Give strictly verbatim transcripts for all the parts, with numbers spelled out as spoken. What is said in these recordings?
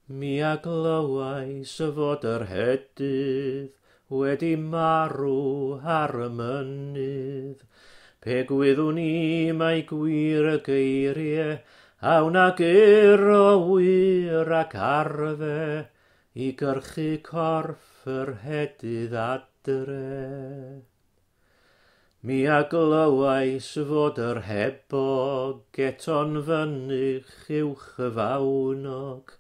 Mi a glywais fod yr hedydd wedi marw ar y mynydd. Pe gwyddwn i mai gwir y geiriau, a wna gyr o wir ac arfe i gyrchu corff yr hedydd adre. Mi a glywais fod yr hebog eto'n fynych uwch y fawnog,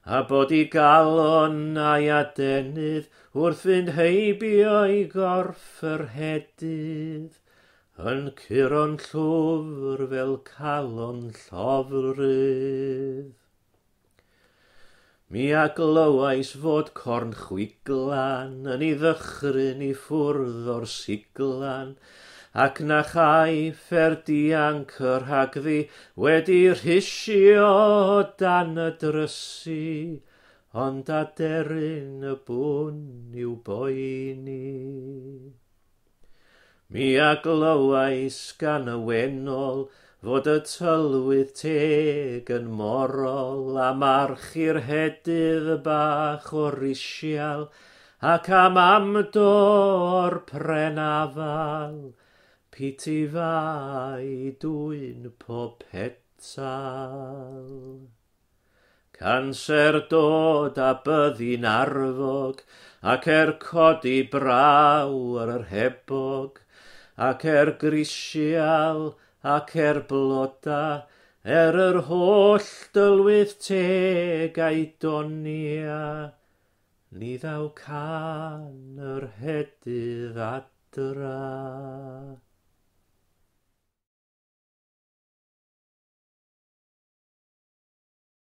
a bod i galon a'i adenydd wrth fynd heibio i gorff yr hedydd, yn curo'n llwfr fel calon llofrudd. Mi a glywais fod corn chwiglan yn ei ddychryn i ffwrdd o'r siglan, ac na chaiff er dianc y rhagddi wedi rhisio dan y drysu, ond aderyn y bwn i'w boeni. Mi a glywais gan y wennol fod y tylwyth teg yn morol a march i'r hedydd bach o risial ac am amdo o'r pren afal, piti fai dwyn pob petal. Canser dod a byddi'n arfog, ac er codi braw ar yr hebog, ac er grisial, ac er bloda, er yr holl dylwyth teg a'i donia, ni ddaw can yr hedydd adra.